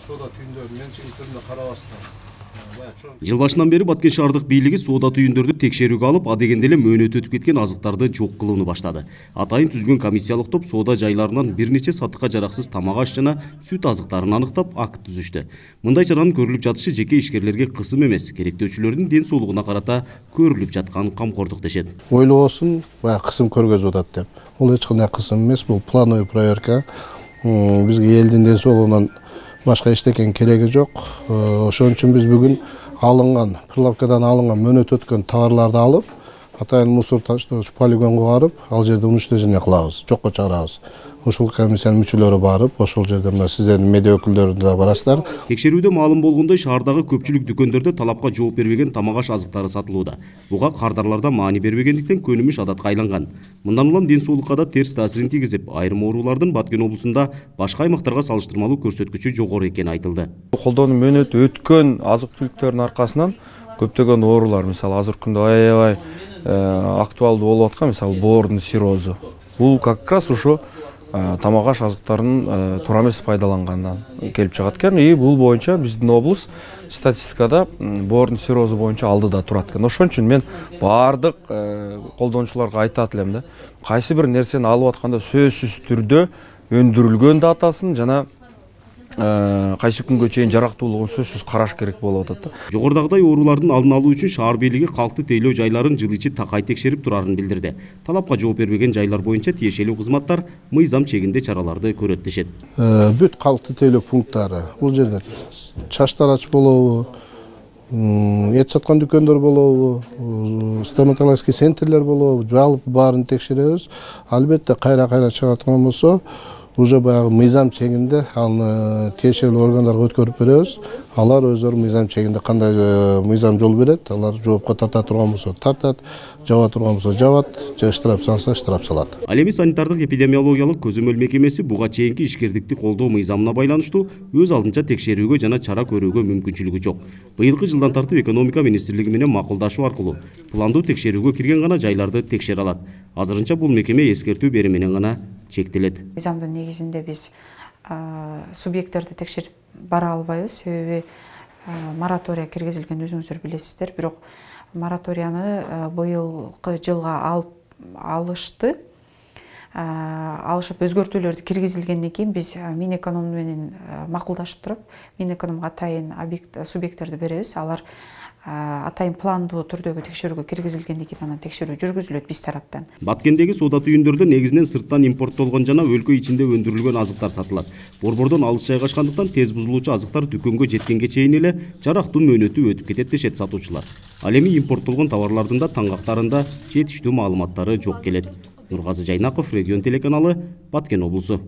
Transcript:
соода түйүндөрүн менчигиндерине карабастан Жыл башынан бери Баткен шаардык бийлиги соода түйүндөрдү текшерүүгө алып, адегенде эле мөөнөтү өтүп кеткен азыктарды жок кылууну баштады. Атайын түзүлгөн комиссиялык топ соода жайларынан бир нече сатыкка жараксыз тамак аш жана сүт азыктарын аныктап, акт түзүштү. Мындай чаранын көрүлүп жатышы жеке ишкерлерге кысым эмес, керектөөчүлөрдүн ден соолугуна карата көрүлүп жаткан камкордук дешет. Ойлобосун, баягы кысым көргөзүп атат деп. Бул эч кандай кысым эмес, бул плановый проверка. Бизге элдин ден соолугунан башка эчтекен кереги жок. Ошон үчүн биз бүгүн алынган, прилавкадан алынган мөөнөт өткөн товарларды алып, атайын мусор таштооч полигонго барып, ал жерде уничтожение кылабыз, жокко чыгарабыз. Ушул комиссиянын мүчөлөрү барып, ошол жерде мына сиздердин медиа өкүлдөрү да барасыздар. Текшерүүдө маалым болгондой, шаардагы көпчүлүк дүкөндөрдө талапка жооп бербеген тамак аш азыктары сатылууда. Буга кардарларда маани бербегендиктен көнүмүш адатка айланган. Мындан улам ден соолукка да терс таасирин тийгизип, айрым оорулардын Баткен облусунда башка аймактарга салыштырмалуу көрсөткүчү жогору экени айтылды. Колдоонун мөөнөтү өткөн азык-түлүктөрдүн аркасынан көптөгөн оорулар, мисалы азыркы күндө аябай актуалдуу болуп аткан, мисалы боордун циррозу. Бул как раз ушу тамак аш азыктарынын туура эмес пайдалангандан келип чыгат экен. И бул боюнча биздин облус статистикада боордун циррозу боюнча алдыда турат экен. Ошон үчүн мен баардык колдонуучуларга айтат элем да, кайсы бир нерсени алып атканда сөзсүз түрдө өндүрүлгөн датасын жана кайсы күнгө чейин жарактуулугун сөзсүз караш керек болуп атат да. Жогорудагыдай оорулардын алдын алуу үчүн шаар бийлиги калкты тейлөө жайларын жыл ичи такай текшерип турарын билдирди. Талапка жооп бербеген жайлар боюнча тиешелүү кызматтар мыйзам чегинде чараларды көрөт дешет. Бүт калкты тейлөө пункттары, бул жерде чач тарач болобу, эт саткан дүкөндөр болобу, стоматологический центрлер болобу, жалпы баарын текшеребиз. Албетте кайра чыгаткан болсо, уже баягы мыйзам чегинде аны тиешелүү органдарга өткөрүп беребиз. Алар өздөрү мыйзам чегинде кандай мыйзам жол берет, алар жоопко тарта турган болсо тартат, жаба турган болсо жабат, же штраф салса штраф салат. Ал эми санитардык эпидемиологиялык көзөмөл мекемеси буга чейинки ишкердикти колдоо мыйзамына байланыштуу өз алдынча текшерүүгө жана чара көрүүгө мүмкүнчүлүгү жок. Быйылкы жылдан тартып экономика министрлиги менен макулдашуу аркылуу пландуу текшерүүгө кирген гана жайларды текшере алат. Азырынча бул мекеме эскертүү берүү менен гана чектелет. Мыйзамдын негизинде биз субъекттерди текшерип бара албайбыз, себеби моратория киргизилген, өзүңүздөр билесиздер. Бирок мораторияны быйылкы жылга алышып өзгөртүүлөрдү киргизилгенден кийин биз Минэконом менен макулдашып туруп, Минэкономго атайын субъекттерди беребиз. Алар атайын пландуу түрдөгү текшерүүгө киргизилгенден кийин анан текшерүү жүргүзүлөт биз тараптан. Баткендеги соода түйүндөрдө негизинен сырттан импорттолгон жана өлкө ичинде өндүрүлгөн азыктар сатылат. Борбордон алыс жайгашкандыктан тез бузулуучу азыктар дүкөнгө жеткенге чейин эле жарактуу мөөнөтү өтүп кетет дешет сатуучулар. Ал эми импорттолгон товарлардын да таңгактарында жетиштүү маалыматтары жок келет. Нургазы Жайнаков, Регион телеканалы, Баткен облусу.